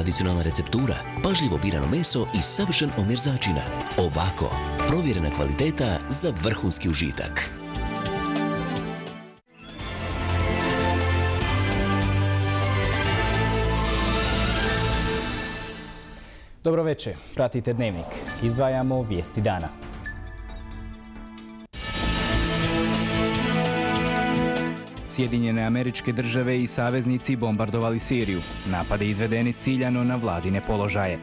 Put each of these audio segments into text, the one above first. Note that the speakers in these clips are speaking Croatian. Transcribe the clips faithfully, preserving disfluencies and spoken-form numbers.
tradicionalna receptura, pažljivo birano meso i savršen omjer začina. Ovako, provjerena kvaliteta za vrhunski užitak. Dobro večer, pratite Dnevnik. Izdvajamo vijesti dana. Sjedinjene Američke Države i saveznici bombardovali Siriju. Napade izvedeni ciljano na vladine položaje.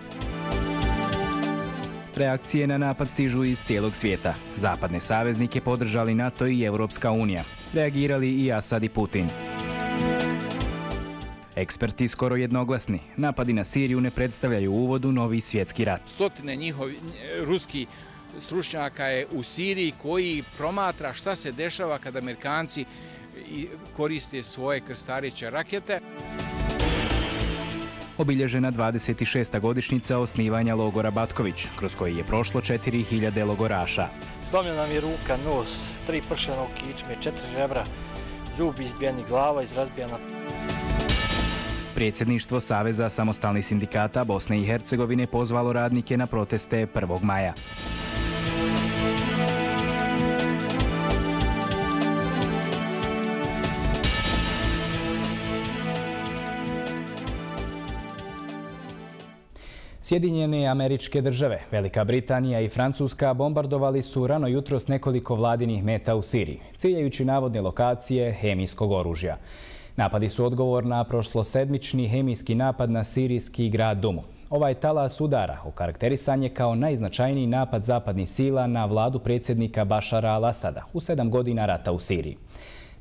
Reakcije na napad stižu iz cijelog svijeta. Zapadne saveznike podržali NATO i Europska unija. Reagirali i Asad i Putin. Eksperti skoro jednoglasni. Napadi na Siriju ne predstavljaju uvod u novi svjetski rat. Stotine njihovi ruski stručnjaka je u Siriji koji promatra šta se dešava kada Amerikanci koriste svoje krstareće rakete. Obilježena dvadeset šesta godišnjica osnivanja logora Batković, kroz koji je prošlo četiri hiljade logoraša. Slomljena nam je ruka, nos, tri pršena u kičme, četiri žebra, zubi izbijeni, glava izrazbijena. Predsjedništvo Saveza samostalnih sindikata Bosne i Hercegovine pozvalo radnike na proteste prvog maja. Sjedinjene Američke Države, Velika Britanija i Francuska bombardovali su rano jutros nekoliko vladinih meta u Siriji, ciljajući navodne lokacije hemijskog oružja. Napadi su odgovor na prošlosedmični hemijski napad na sirijski grad Dumu. Ovaj talas udara okarakterisan je kao najznačajniji napad zapadnih sila na vladu predsjednika Bašara al-Asada u sedam godina rata u Siriji.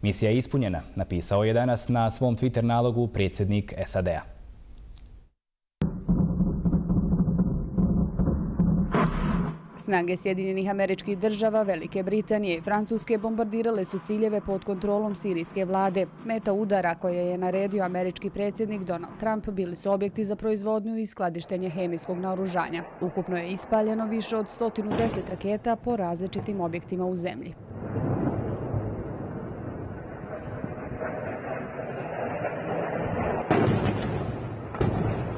Misija je ispunjena, napisao je danas na svom Twitter nalogu predsjednik S A D-a. Snage Sjedinjenih Američkih Država, Velike Britanije i Francuske bombardirale su ciljeve pod kontrolom sirijske vlade. Meta udara koje je naredio američki predsjednik Donald Trump bili su objekti za proizvodnju i skladištenje hemijskog naoružanja. Ukupno je ispaljeno više od sto deset raketa po različitim objektima u zemlji.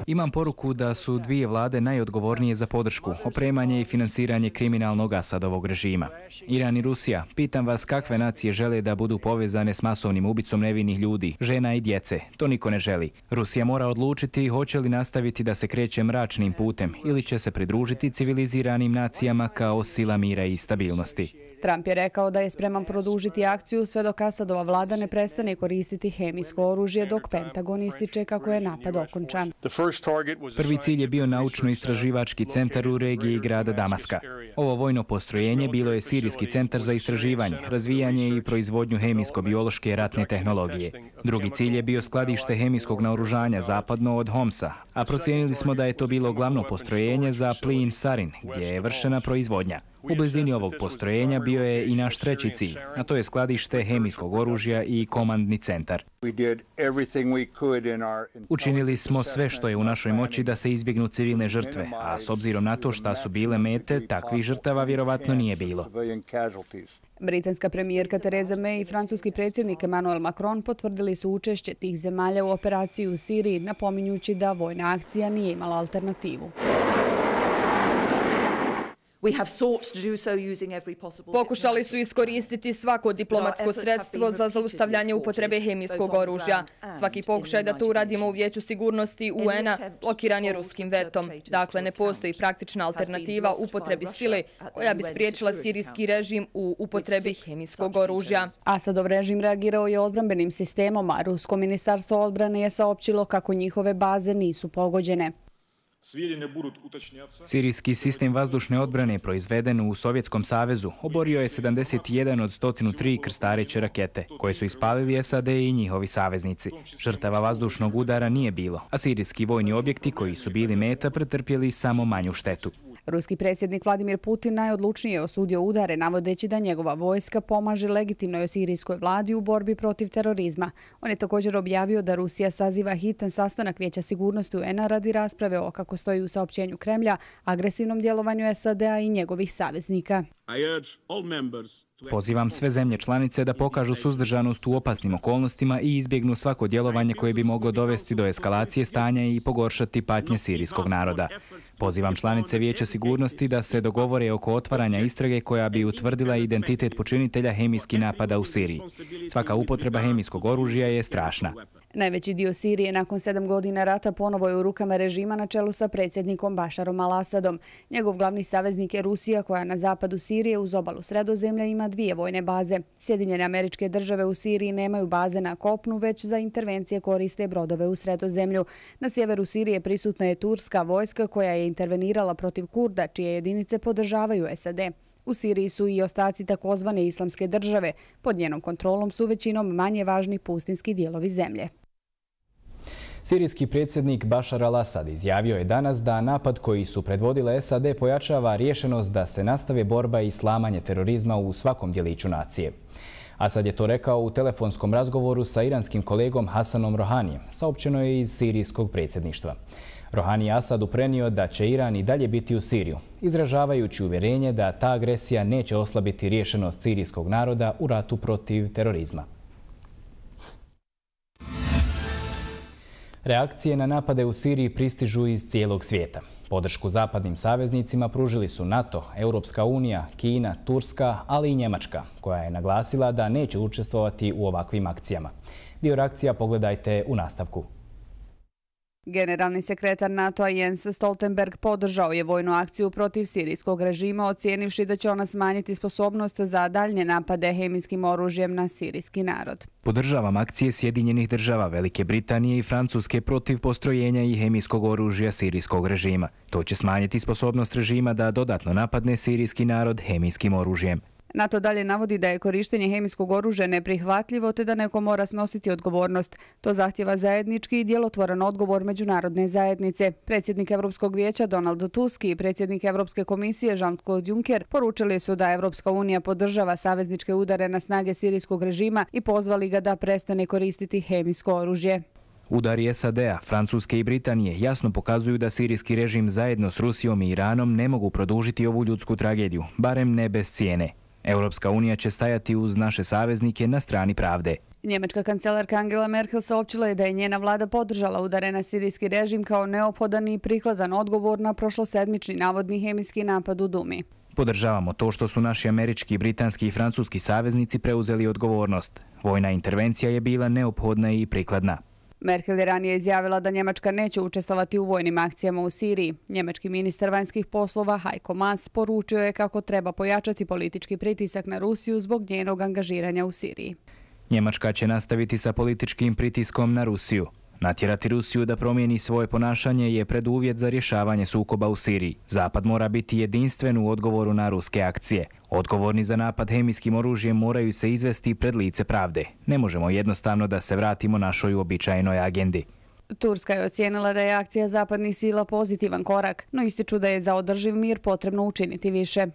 Imam poruku da su dvije vlade najodgovornije za podršku, opremanje i finansiranje kriminalnog Asadovog režima. Iran i Rusija, pitam vas kakve nacije žele da budu povezane s masovnim ubicom nevinih ljudi, žena i djece. To niko ne želi. Rusija mora odlučiti hoće li nastaviti da se kreće mračnim putem ili će se pridružiti civiliziranim nacijama kao sila mira i stabilnosti. Trump je rekao da je spreman produžiti akciju sve dok Asadova vlada ne prestane koristiti hemijsko oružje dok Pentagon ističe kako je napad okončan. Prvi cilj je bio naučno-istraživački centar u regiji grada Damaska. Ovo vojno postrojenje bilo je sirijski centar za istraživanje, razvijanje i proizvodnju hemijsko-biološke ratne tehnologije. Drugi cilj je bio skladište hemijskog naoružanja zapadno od Homsa, a procijenili smo da je to bilo glavno postrojenje za plin sarin, gdje je vršena proizvodnja. U blizini ovog postrojenja bio je i naš treći cilj, a to je skladište hemijskog oružja i komandni centar. Učinili smo sve što je u našoj moći da se izbjegnu civilne žrtve, a s obzirom na to šta su bile mete, takvih žrtava vjerovatno nije bilo. Britanska premijerka Theresa May i francuski predsjednik Emmanuel Macron potvrdili su učešće tih zemalja u operaciji u Siriji, napominjući da vojna akcija nije imala alternativu. Pokušali su iskoristiti svako diplomatsko sredstvo za zaustavljanje upotrebe hemijskog oružja. Svaki pokušaj da to uradimo u Vijeću sigurnosti U N-a blokiran je ruskim vetom. Dakle, ne postoji praktična alternativa upotrebi sile koja bi spriječila sirijski režim u upotrebi hemijskog oružja. Asadov režim reagirao je odbrambenim sistemom, a rusko ministarstvo odbrane je saopćilo kako njihove baze nisu pogođene. Sirijski sistem vazdušne odbrane proizveden u Sovjetskom savezu oborio je sedamdeset jedan od sto tri krstareće rakete, koje su ispalili S A D i njihovi saveznici. Žrtava vazdušnog udara nije bilo, a sirijski vojni objekti koji su bili meta pretrpjeli samo manju štetu. Ruski predsjednik Vladimir Putin najodlučnije osudio udare, navodeći da njegova vojska pomaže legitimnoj sirijskoj vladi u borbi protiv terorizma. On je također objavio da Rusija saziva hitan sastanak Vijeća sigurnosti U N-a radi rasprave o, kako stoji u saopćenju Kremlja, agresivnom djelovanju S A D-a i njegovih saveznika. Pozivam sve zemlje članice da pokažu suzdržanost u opasnim okolnostima i izbjegnu svako djelovanje koje bi moglo dovesti do eskalacije stanja i pogoršati patnje sirijskog naroda. Pozivam članice Vijeća sigurnosti da se dogovore oko otvaranja istrage koja bi utvrdila identitet počinitelja hemijskih napada u Siriji. Svaka upotreba hemijskog oružja je strašna. Najveći dio Sirije nakon sedam godina rata ponovo je u rukama režima na čelu sa predsjednikom Bašarom al-Asadom. Njegov glavni saveznik je Rusija, koja na zapadu Sirije uz obalu Sredozemlja ima dvije vojne baze. Sjedinjene Američke Države u Siriji nemaju baze na kopnu, već za intervencije koriste brodove u Sredozemlju. Na sjeveru Sirije prisutna je turska vojska koja je intervenirala protiv Kurda, čije jedinice podržavaju S A D. U Siriji su i ostaci takozvane islamske države. Pod njenom kontrolom su većinom manje važni pustinski dijelovi zemlje. Sirijski predsjednik Bašar al-Asad izjavio je danas da napad koji su predvodile S A D pojačava rješenost da se nastave borba i slamanje terorizma u svakom djeliću nacije. Asad je to rekao u telefonskom razgovoru sa iranskim kolegom Hasanom Rohanijem, saopćeno je iz sirijskog predsjedništva. Rohani je Asadu prenio da će Iran i dalje biti u Siriju, izražavajući uvjerenje da ta agresija neće oslabiti rješenost sirijskog naroda u ratu protiv terorizma. Reakcije na napade u Siriji pristižu iz cijelog svijeta. Podršku zapadnim saveznicima pružili su NATO, Europska unija, Kina, Turska, ali i Njemačka, koja je naglasila da neće učestvovati u ovakvim akcijama. Dio reakcija pogledajte u nastavku. Generalni sekretar NATO-a Jens Stoltenberg podržao je vojnu akciju protiv sirijskog režima, ocijenivši da će ona smanjiti sposobnost za daljnje napade hemijskim oružjem na sirijski narod. Podržavam akcije Sjedinjenih država, Velike Britanije i Francuske protiv postrojenja i hemijskog oružja sirijskog režima. To će smanjiti sposobnost režima da dodatno napadne sirijski narod hemijskim oružjem. NATO dalje navodi da je korištenje hemijskog oružja neprihvatljivo te da neko mora snositi odgovornost. To zahtjeva zajednički i djelotvoran odgovor međunarodne zajednice. Predsjednik Europskog vijeća Donald Tusk i predsjednik Europske komisije Jean-Claude Juncker poručili su da Europska unija podržava savezničke udare na snage sirijskog režima i pozvali ga da prestane koristiti hemijsko oružje. Udari S A D-a, Francuske i Britanije jasno pokazuju da sirijski režim zajedno s Rusijom i Iranom ne mogu produžiti ovu ljudsku tragediju, barem ne bez cijene. Europska unija će stajati uz naše saveznike na strani pravde. Njemačka kancelarka Angela Merkel saopćila je da je njena vlada podržala udare na sirijski režim kao neophodan i prikladan odgovor na prošlosedmični navodni hemijski napad u Dumi. Podržavamo to što su naši američki, britanski i francuski saveznici preuzeli odgovornost. Vojna intervencija je bila neophodna i prikladna. Merkel je ranije izjavila da Njemačka neće učestvovati u vojnim akcijama u Siriji. Njemački ministar vanjskih poslova Heiko Maas poručio je kako treba pojačati politički pritisak na Rusiju zbog njenog angažiranja u Siriji. Njemačka će nastaviti sa političkim pritiskom na Rusiju. Natjerati Rusiju da promijeni svoje ponašanje je preduvjet za rješavanje sukoba u Siriji. Zapad mora biti jedinstven u odgovoru na ruske akcije. Odgovorni za napad hemijskim oružjem moraju se izvesti pred lice pravde. Ne možemo jednostavno da se vratimo našoj uobičajenoj agendi. Turska je ocijenila da je akcija zapadnih sila pozitivan korak, no ističu da je za održiv mir potrebno učiniti više.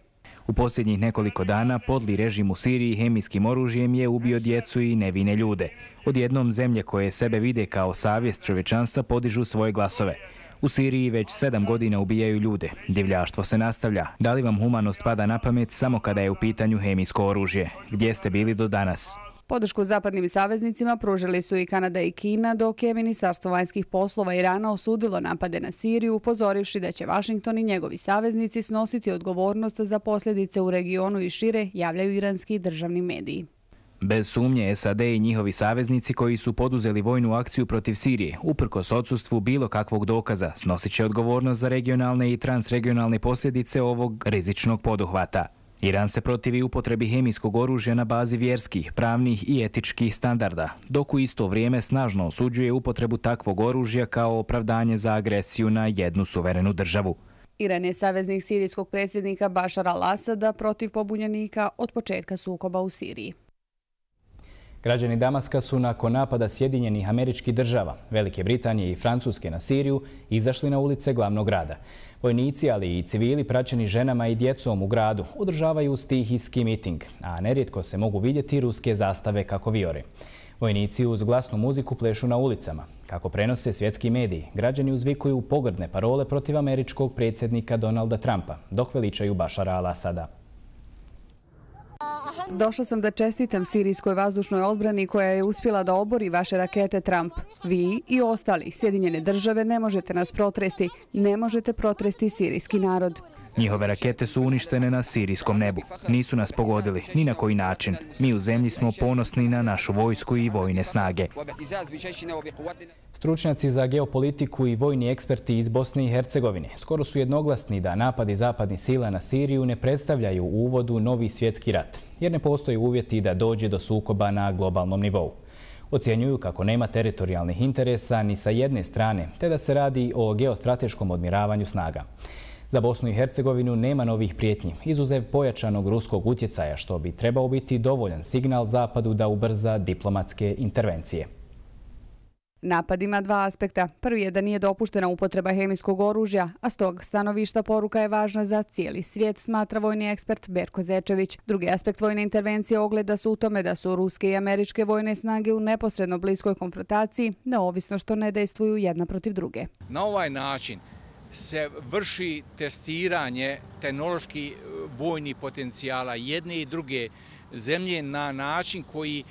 U posljednjih nekoliko dana podli režim u Siriji hemijskim oružjem je ubio djecu i nevine ljude. Odjednom zemlje koje sebe vide kao savjest čovječanstva podižu svoje glasove. U Siriji već sedam godina ubijaju ljude. Divljaštvo se nastavlja. Da li vam humanost pada na pamet samo kada je u pitanju hemijsko oružje? Gdje ste bili do danas? Podršku zapadnim saveznicima pružili su i Kanada i Kina, dok je Ministarstvo vanjskih poslova Irana osudilo napade na Siriju, upozorivši da će Vašington i njegovi saveznici snositi odgovornost za posljedice u regionu i šire, javljaju iranski državni mediji. Bez sumnje S A D i njihovi saveznici koji su poduzeli vojnu akciju protiv Sirije, uprkos odsustvu bilo kakvog dokaza, snosit će odgovornost za regionalne i transregionalne posljedice ovog rizičnog poduhvata. Iran se protivi upotrebi hemijskog oružja na bazi vjerskih, pravnih i etičkih standarda, dok u isto vrijeme snažno osuđuje upotrebu takvog oružja kao opravdanje za agresiju na jednu suverenu državu. Iran je saveznik sirijskog predsjednika Bašara al-Asada protiv pobunjenika od početka sukoba u Siriji. Građani Damaska su nakon napada Sjedinjenih Američkih Država, Velike Britanije i Francuske na Siriju izašli na ulice glavnog grada. Vojnici, ali i civili praćeni ženama i djecom u gradu održavaju stihijski miting, a nerijetko se mogu vidjeti ruske zastave kako vijore. Vojnici uz glasnu muziku plešu na ulicama. Kako prenose svjetski mediji, građani uzvikuju pogrdne parole protiv američkog predsjednika Donalda Trumpa, dok veličaju Bašara al-Asada. Došla sam da čestitam sirijskoj vazdušnoj odbrani koja je uspjela da obori vaše rakete, Trump. Vi i ostali Sjedinjene države ne možete nas protresti, ne možete protresti sirijski narod. Njihove rakete su uništene na sirijskom nebu. Nisu nas pogodili, ni na koji način. Mi u zemlji smo ponosni na našu vojsku i vojne snage. Stručnjaci za geopolitiku i vojni eksperti iz Bosne i Hercegovine skoro su jednoglasni da napadi zapadnih sila na Siriju ne predstavljaju u uvodu novi svjetski rat, jer ne postoje uvjeti da dođe do sukoba na globalnom nivou. Ocjenjuju kako nema teritorijalnih interesa ni sa jedne strane, te da se radi o geostrateškom odmiravanju snaga. Za Bosnu i Hercegovinu nema novih prijetnji, izuzev pojačanog ruskog utjecaja, što bi trebao biti dovoljan signal Zapadu da ubrza diplomatske intervencije. Napad ima dva aspekta. Prvi je da nije dopuštena upotreba hemijskog oružja, a s tog stanovišta poruka je važna za cijeli svijet, smatra vojni ekspert Berko Zečević. Drugi aspekt vojne intervencije ogleda se u tome da su ruske i američke vojne snage u neposredno bliskoj konfrontaciji, neovisno što ne dejstvuju jedna protiv druge. Na ovaj način se vrši testiranje tehnoloških vojnih potencijala jedne i druge zemlje na način koji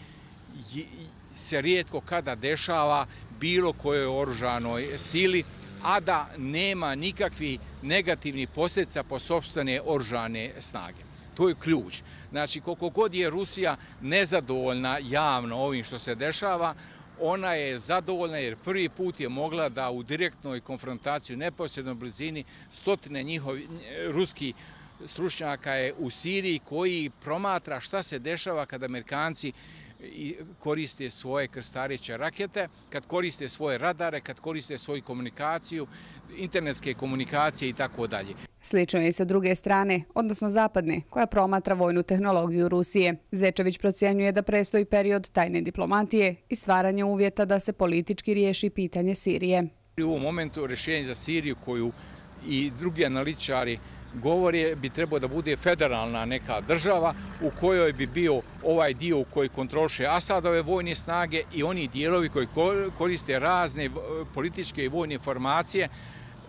se rijetko kada dešava bilo kojoj oružanoj sili, a da nema nikakvih negativnih posljedica po sopstvene oružane snage. To je ključ. Znači, koliko god je Rusija nezadovoljna javno ovim što se dešava, ona je zadovoljna jer prvi put je mogla da u direktnoj konfrontaciji u neposrednoj blizini stotine njihovi ruskih stručnjaka je u Siriji koji promatra šta se dešava kad Amerikanci koriste svoje krstareće rakete, kad koriste svoje radare, kad koriste svoju komunikaciju, internetske komunikacije i tako dalje. Slično je i sa druge strane, odnosno zapadne, koja promatra vojnu tehnologiju Rusije. Zečević procjenjuje da prestoji period tajne diplomatije i stvaranje uvjeta da se politički riješi pitanje Sirije. U ovom momentu rješenje za Siriju koju i drugi analitičari govore bi trebao da bude federalna neka država u kojoj bi bio ovaj dio koji kontroliše Asadove vojne snage i oni dijelovi koji koriste razne političke i vojne formacije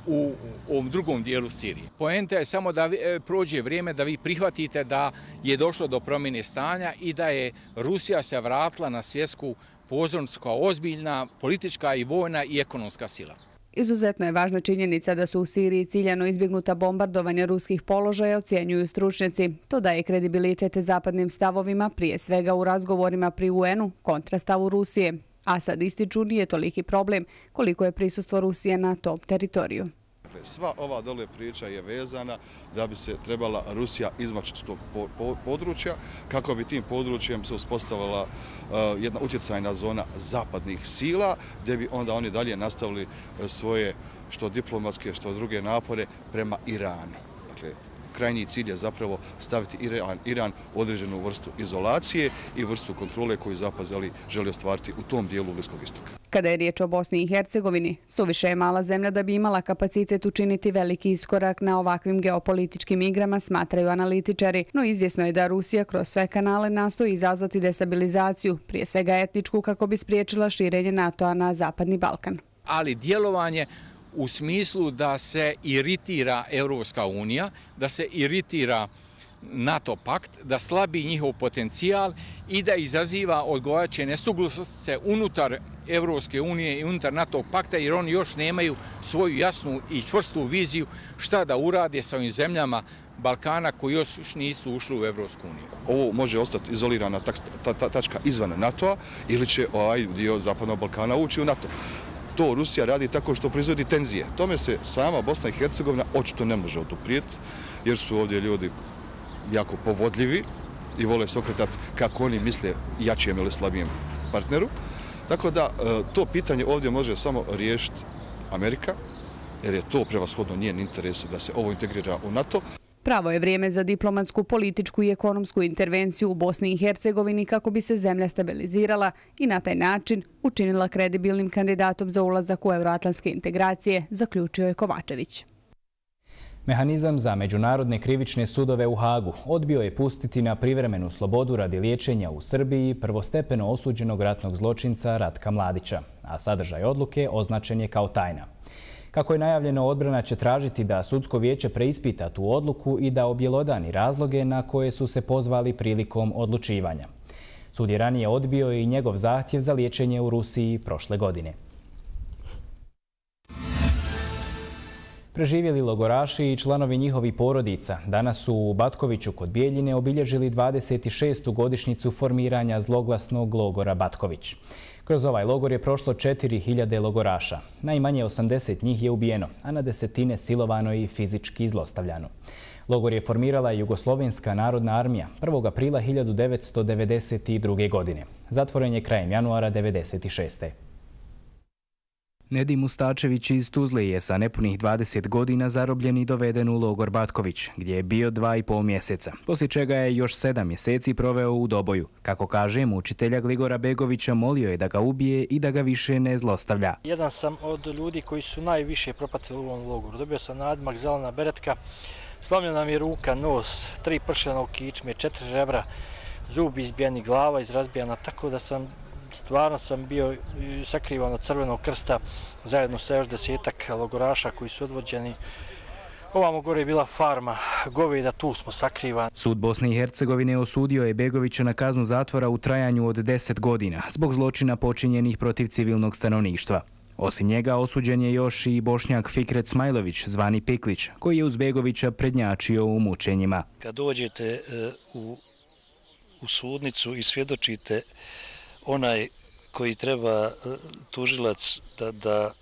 u ovom drugom dijelu Sirije. Poenta je samo da prođe vrijeme da vi prihvatite da je došlo do promjene stanja i da je Rusija se vratila na svjetsku pozornicu kao ozbiljna politička i vojna i ekonomska sila. Izuzetno je važna činjenica da su u Siriji ciljano izbjegnuta bombardovanja ruskih položaja, ocjenjuju stručnjaci. To daje kredibilitet zapadnim stavovima, prije svega u razgovorima pri U N-u, kontra stavu Rusije. A sad ističu nije toliki problem koliko je prisustvo Rusije na tom teritoriju. Sva ova dole priča je vezana da bi se trebala Rusija izmaći s tog područja, kako bi tim područjem se uspostavila jedna utjecajna zona zapadnih sila, gdje bi onda oni dalje nastavili svoje što diplomatske, što druge napore prema Iranu. Dakle, krajnji cilj je zapravo staviti Iran, Iran u određenu vrstu izolacije i vrstu kontrole koju Zapad želi ostvariti u tom dijelu Bliskog istoka. Kada je riječ o Bosni i Hercegovini, suviše je mala zemlja da bi imala kapacitet učiniti veliki iskorak na ovakvim geopolitičkim igrama, smatraju analitičari. No izvjesno je da Rusija kroz sve kanale nastoji izazvati destabilizaciju, prije svega etničku, kako bi spriječila širenje NATO-a na Zapadni Balkan. Ali djelovanje u smislu da se iritira Europska unija, da se iritira NATO pakt, da slabi njihov potencijal i da izaziva odgovarajuće nesuglasice unutar Europske unije i unutar NATO pakta, jer oni još nemaju svoju jasnu i čvrstu viziju šta da urade sa ovim zemljama Balkana koji još nisu ušli u Europsku uniju. Ovo može ostati izolirana tačka izvan NATO-a ili će ovaj dio Zapadnog Balkana ući u NATO. To Rusija radi tako što proizvodi tenzije. Tome se sama Bosna i Hercegovina očito ne može oduprijeti, jer su ovdje ljudi jako povodljivi i vole se okretati kako oni misle jačijem ili slabijem partneru. Tako da to pitanje ovdje može samo riješiti Amerika, jer je to prevashodno njen interes da se ovo integrira u NATO. Pravo je vrijeme za diplomatsku, političku i ekonomsku intervenciju u Bosni i Hercegovini kako bi se zemlja stabilizirala i na taj način učinila kredibilnim kandidatom za ulazak u euroatlantske integracije, zaključio je Kovačević. Mehanizam za međunarodne krivične sudove u Hagu odbio je pustiti na privremenu slobodu radi liječenja u Srbiji prvostepeno osuđenog ratnog zločinca Ratka Mladića, a sadržaj odluke označen je kao tajna. Kako je najavljeno, odbrana će tražiti da sudsko vijeće preispita tu odluku i da objelodani razloge na koje su se pozvali prilikom odlučivanja. Sud je ranije odbio i njegov zahtjev za liječenje u Rusiji prošle godine. Preživjeli logoraši i članovi njihovih porodica danas su u Batkoviću kod Bijeljine obilježili dvadeset šestu godišnjicu formiranja zloglasnog logora Batković. Kroz ovaj logor je prošlo četiri hiljade logoraša. Najmanje osamdeset njih je ubijeno, a na desetine silovano i fizički zlostavljano. Logor je formirala Jugoslovenska narodna armija prvog aprila hiljadu devetsto devedeset druge. godine. Zatvoren je krajem januara devedeset šeste. Nedim Mustačević iz Tuzle je sa nepunih dvadeset godina zarobljen i doveden u logor Batković, gdje je bio dva i pol mjeseca, poslije čega je još sedam mjeseci proveo u Doboju. Kako kaže, mučitelja Gligora Begovića molio je da ga ubije i da ga više ne zlostavlja. Jedan sam od ljudi koji su najviše propatili u ovom logoru. Dobio sam nadimak zelena beretka, slomljena mi je ruka, nos, tri pršena u kičme, četiri rebra, zubi izbijeni, glava izrazbijana, tako da sam stvarno sam bio sakrivan od Crvenog krsta zajedno sa još desetak logoraša koji su odvođeni. Ovamo gore je bila farma goveda, tu smo sakrivani. Sud Bosne i Hercegovine osudio je Begovića na kaznu zatvora u trajanju od deset godina zbog zločina počinjenih protiv civilnog stanovništva. Osim njega osuđen je još i Bošnjak Fikret Smajlović, zvani Piklić, koji je uz Begovića prednjačio u mučenjima. Kad dođete u, u sudnicu i svjedočite, onaj koji treba tužilac da, da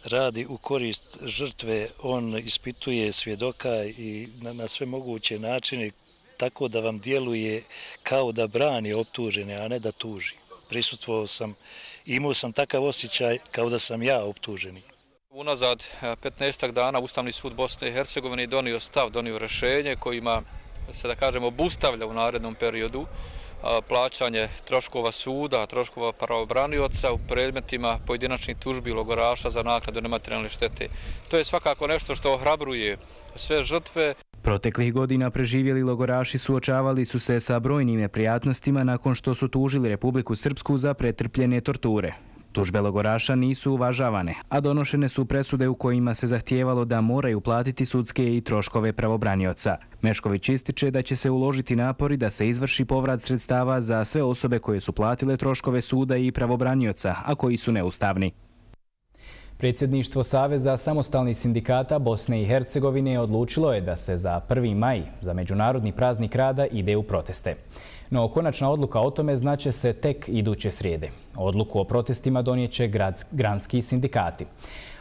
radi u korist žrtve, on ispituje svjedoka i na, na sve moguće načine tako da vam djeluje kao da brani optužene, a ne da tuži. Prisustvovao sam, imao sam takav osjećaj kao da sam ja optuženi. Unazad petnaestak dana Ustavni sud Bosne i Hercegovine donio stav, donio rješenje kojima se, da kažemo, obustavlja u narednom periodu plaćanje troškova suda, troškova pravobranioca u predmetima pojedinačnih tužbi logoraša za naknadu nematerijalne štete. To je svakako nešto što ohrabruje sve žrtve. Proteklih godina preživjeli logoraši suočavali su se sa brojnim neprijatnostima nakon što su tužili Republiku Srpsku za pretrpljene torture. Tužbe logoraša nisu uvažavane, a donošene su presude u kojima se zahtijevalo da moraju platiti sudske i troškove pravobranioca. Mešković ističe da će se uložiti napori da se izvrši povrat sredstava za sve osobe koje su platile troškove suda i pravobranioca, a koji su neustavni. Predsjedništvo Saveza samostalnih sindikata Bosne i Hercegovine odlučilo je da se za prvi maj, za Međunarodni praznik rada, ide u proteste. No, konačna odluka o tome znaće se tek iduće srijede. Odluku o protestima donijeće granski sindikati.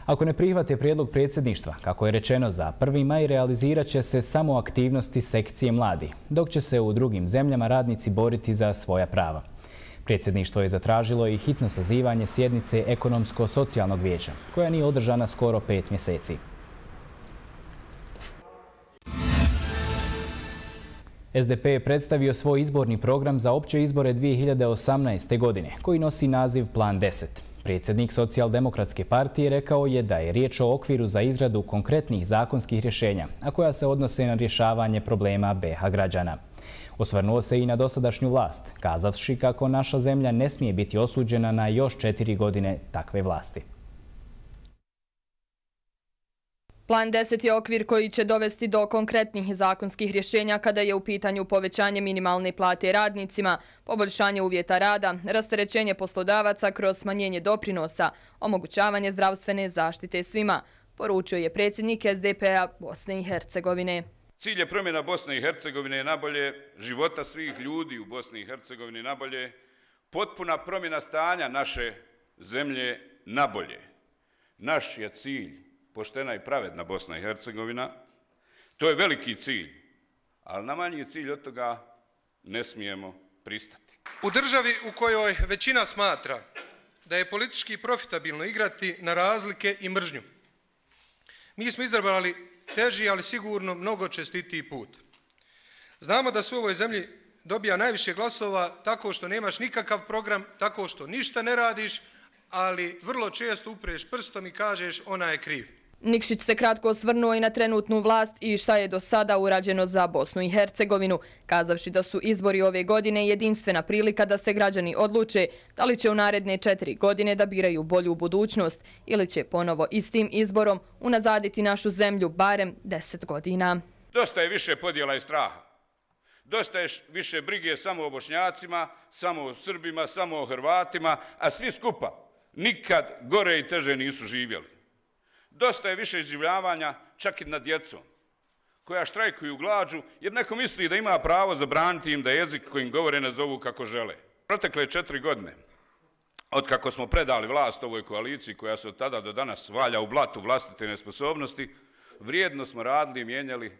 Ako ne prihvate prijedlog predsjedništva, kako je rečeno, za prvi maj realizirat će se samo aktivnosti sekcije mladi, dok će se u drugim zemljama radnici boriti za svoja prava. Predsjedništvo je zatražilo i hitno sazivanje sjednice Ekonomsko-socijalnog vijeća, koja nije održana skoro pet mjeseci. S D P je predstavio svoj izborni program za opće izbore dvije hiljade osamnaeste. godine, koji nosi naziv Plan deset. Predsjednik Socijaldemokratske partije rekao je da je riječ o okviru za izradu konkretnih zakonskih rješenja, a koja se odnose na rješavanje problema B iH građana. Osvrnuo se i na dosadašnju vlast, kazavši kako naša zemlja ne smije biti osuđena na još četiri godine takve vlasti. Plan deset je okvir koji će dovesti do konkretnih zakonskih rješenja kada je u pitanju povećanje minimalne plate radnicima, poboljšanje uvjeta rada, rasterećenje poslodavaca kroz smanjenje doprinosa, omogućavanje zdravstvene zaštite svima, poručio je predsjednik S D P-a Bosne i Hercegovine. Cilj je promjena Bosne i Hercegovine nabolje, života svih ljudi u Bosni i Hercegovini nabolje, potpuna promjena stanja naše zemlje nabolje. Naš je cilj poštena i pravedna Bosna i Hercegovina. To je veliki cilj, ali na manji cilj od toga ne smijemo pristati. U državi u kojoj većina smatra da je politički profitabilno igrati na razlike i mržnju, mi smo izabrali teži, ali sigurno mnogo čestitiji put. Znamo da se u ovoj zemlji dobija najviše glasova tako što nemaš nikakav program, tako što ništa ne radiš, ali vrlo često upreš prstom i kažeš ona je kriv. Nikšić se kratko osvrnuo i na trenutnu vlast i šta je do sada urađeno za Bosnu i Hercegovinu, kazavši da su izbori ove godine jedinstvena prilika da se građani odluče da li će u naredne četiri godine da biraju bolju budućnost ili će ponovo istim izborom unazaditi našu zemlju barem deset godina. Dosta je više podjela i straha. Dosta je više brige samo o Bošnjacima, samo o Srbima, samo o Hrvatima, a svi skupa nikad gore i teže nisu živjeli. Dosta je više iživljavanja čak i nad djecom, koja štrajkuju glađu jer neko misli da ima pravo zabraniti im da jezik kojim govore nazovu kako žele. Protekle četiri godine, od kako smo predali vlast ovoj koaliciji koja se od tada do danas valja u blatu vlastite nesposobnosti, vrijedno smo radili i mijenjali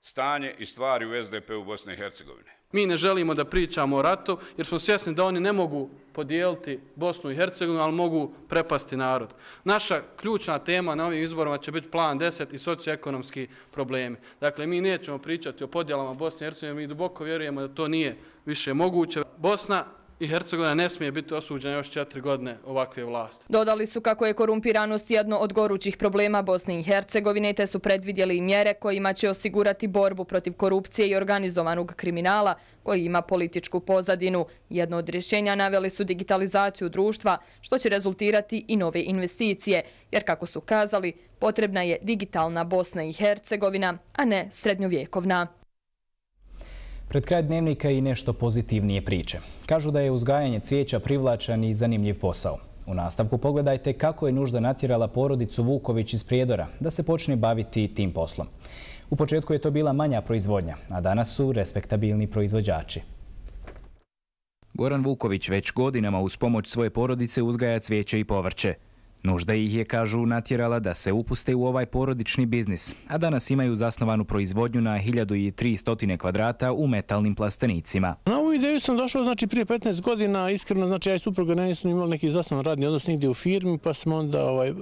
stanje i stvari u S D P u Bosne i Hercegovine. Mi ne želimo da pričamo o ratu jer smo svjesni da oni ne mogu podijeliti Bosnu i Hercegovinu, ali mogu prepasti narod. Naša ključna tema na ovim izborima će biti plan deset i socioekonomski problemi. Dakle, mi nećemo pričati o podjelama Bosne i Hercegovine, mi duboko vjerujemo da to nije više moguće. Bosna i Hercegovina ne smije biti osuđena još četiri godine ovakve vlasti. Dodali su kako je korumpiranost jedno od gorućih problema Bosne i Hercegovine, te su predvidjeli mjere kojima će osigurati borbu protiv korupcije i organizovanog kriminala koji ima političku pozadinu. Jedno od rješenja naveli su digitalizaciju društva, što će rezultirati i nove investicije, jer kako su kazali, potrebna je digitalna Bosna i Hercegovina, a ne srednjovjekovna. Pred kraj dnevnika i nešto pozitivnije priče. Kažu da je uzgajanje cvijeća privlačan i zanimljiv posao. U nastavku pogledajte kako je nužda natjerala porodicu Vuković iz Prijedora da se počne baviti tim poslom. U početku je to bila manja proizvodnja, a danas su respektabilni proizvođači. Goran Vuković već godinama uz pomoć svoje porodice uzgaja cvijeće i povrće. Nužda ih je, kažu, natjerala da se upuste u ovaj porodični biznis, a danas imaju zasnovanu proizvodnju na hiljadu tristo kvadrata u metalnim plastenicima. Na ovu ideju sam došao znači prije petnaest godina, iskreno, znači ja i supruga nisam imali neki zasnovan radni odnos nigdje u firmi, pa smo onda ovaj, e,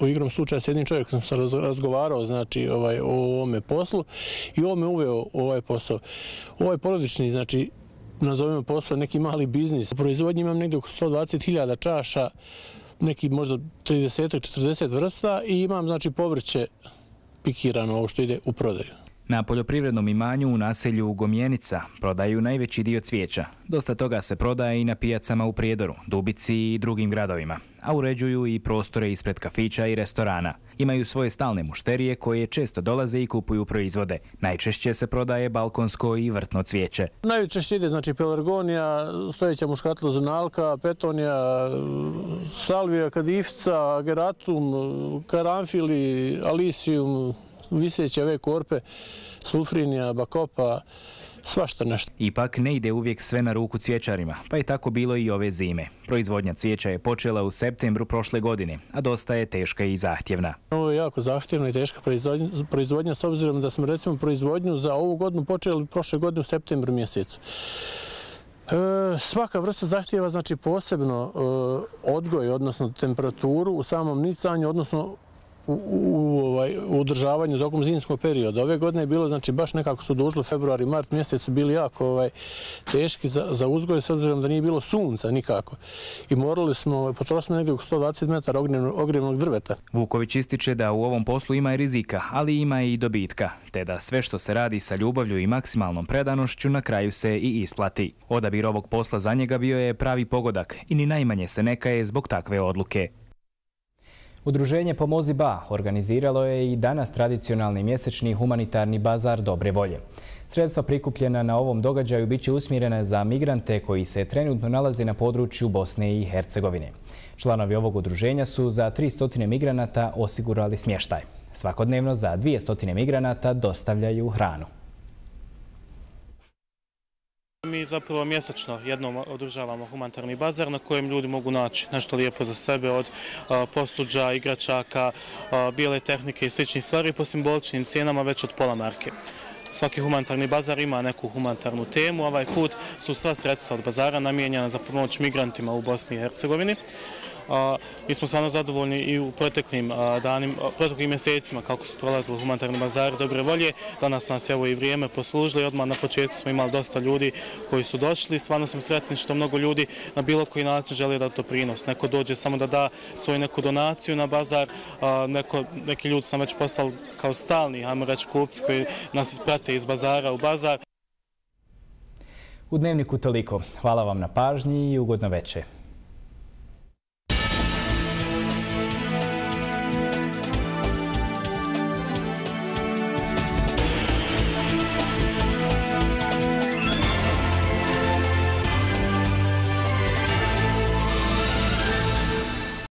u igrom slučaja s jednim čovjekom sam razgovarao znači ovaj, o ovome poslu i ovo me uveo ovaj posao. Ovaj porodični, znači, nazovimo posao neki mali biznis. U proizvodnji imam negdje oko sto dvadeset hiljada čaša, neki možda trideset do četrdeset vrsta i imam znači povrće pikirano, ovo što ide u prodaju. Na poljoprivrednom imanju u naselju Gomjenica prodaju najveći dio cvijeća. Dosta toga se prodaje i na pijacama u Prijedoru, Dubici i drugim gradovima, a uređuju i prostore ispred kafića i restorana. Imaju svoje stalne mušterije koje često dolaze i kupuju proizvode. Najčešće se prodaje balkonsko i vrtno cvijeće. Najčešće ide znači pelargonija, stojeća muškatlozonalka, petonija, salvija, kadifca, geratum, karanfili, alisijum, viseće ove korpe, sulfrinija, bakopa, svašta nešto. Ipak ne ide uvijek sve na ruku cvijećarima, pa je tako bilo i ove zime. Proizvodnja cvijeća je počela u septembru prošle godine, a dosta je teška i zahtjevna. Ovo je jako zahtjevna i teška proizvodnja, proizvodnja s obzirom da smo recimo proizvodnju za ovu godinu počeli prošle godine u septembru mjesecu. E, svaka vrsta zahtjeva znači posebno e, odgoj, odnosno temperaturu u samom nicanju, odnosno u, u, ovaj, u održavanju tokom zimskog perioda. Ove godine je bilo, znači baš nekako su došli februar i mart mjesec su bili jako ovaj, teški za, za uzgoj, s obzirom da nije bilo sunca nikako. I morali smo, potrošiti negdje oko sto dvadeset metara ogrjevnog drveta. Vuković ističe da u ovom poslu ima i rizika, ali ima i dobitka, te da sve što se radi sa ljubavlju i maksimalnom predanošću na kraju se i isplati. Odabir ovog posla za njega bio je pravi pogodak i ni najmanje se ne kaje zbog takve odluke. Udruženje Pomozi Ba organiziralo je i danas tradicionalni mjesečni humanitarni bazar dobre volje. Sredstva prikupljena na ovom događaju bit će usmjerena za migrante koji se trenutno nalaze na području Bosne i Hercegovine. Članovi ovog udruženja su za tristo migranata osigurali smještaj. Svakodnevno za dvjesto migranata dostavljaju hranu. Mi zapravo mjesečno jednom održavamo humanitarni bazar na kojem ljudi mogu naći nešto lijepo za sebe od posuđa, igračaka, bijele tehnike i sličnih stvari po simboličnim cijenama već od pola marke. Svaki humanitarni bazar ima neku humanitarnu temu. Ovaj put su sva sredstva od bazara namijenjena za pomoć migrantima u Bosni i Hercegovini. Mi smo stvarno zadovoljni i u proteklim danima, proteklim mjesecima kako su prolazili humanitarni bazari dobre volje. Danas nas evo i vrijeme poslužilo i odmah na početku smo imali dosta ljudi koji su došli. Stvarno smo sretni što mnogo ljudi na bilo koji način žele da to prinos. Neko dođe samo da da svoju neku donaciju na bazar, neko, neki ljudi sam već poslali kao stalni, ajmo reći, kupci koji nas prate iz bazara u bazar. U Dnevniku toliko. Hvala vam na pažnji i ugodno večer.